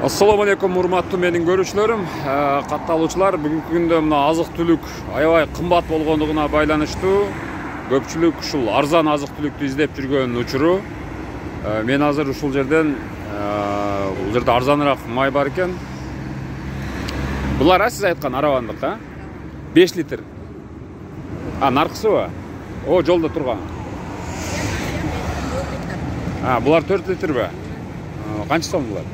Assalamu alaikum урматтуу менин көрүүчүлөрүм, катталуучулар. Бүгүнкү күндө мына азык-түлүк аябай кымбат болгондугуна байланыштуу көпчүлүк ушул арзан азык-түлүктү издеп жүргөн учуру. Мен азыр ушул жерден бул жерде арзаныраак май бар экен. Булар сиз айткан аравандык, 5 литр. Наркысыбы? О, жолдо турган. Булар 4 литрби? Канча сом булар?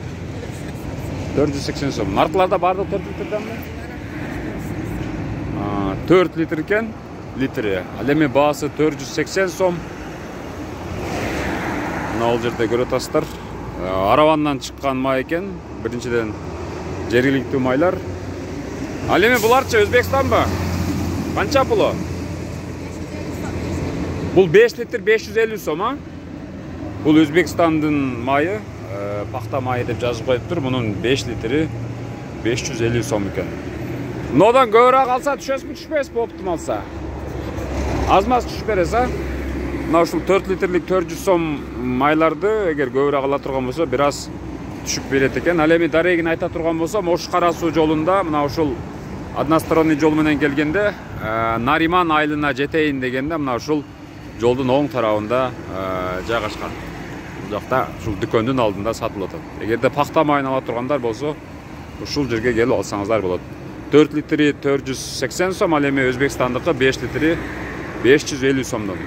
480 сом. Наркыларда бардык 4 литрденби? 4 литр экен, литри. Ал эми баасы 480 сом. Мына бул жерде көрүп атасыздар. Аравандан чыккан май экен. Биринчиден жергиликтүү майлар. Ал эми буларчы Өзбекстанбы? Канча пулу? Бул 5 литр 550 сом, Бул Өзбекстандын майы, пахта майы деп жазып коюптур. Мунун 5 литри 550 сом экен. Нодан көбүрөөк алса түшөсүзбү, түшпөйсүзбү оптималса? Аз-маз түшүп бересиз, Мына ушул 4 литрлик 400 сом майларды эгер көбүрөөк ала турган болсо, бир аз түшүп берет экен. Ал эми дарегин айта турган болсом, Ош Кара Суу жолунда мына ушул односторонний жол менен келгенде, Нариман айылына жетейин дегенде, мына ушул жолдун оң тарабында жайгашкан. Бул жакта ушул дүкөндүн алдында сатылып атат. Эгерде пахта майын ала тургандар болсо, ушул жерге келип алсаңыздар болот. 4 литри 480 сом, ал эми Өзбекстандыкы 5 литри 550 сомдон.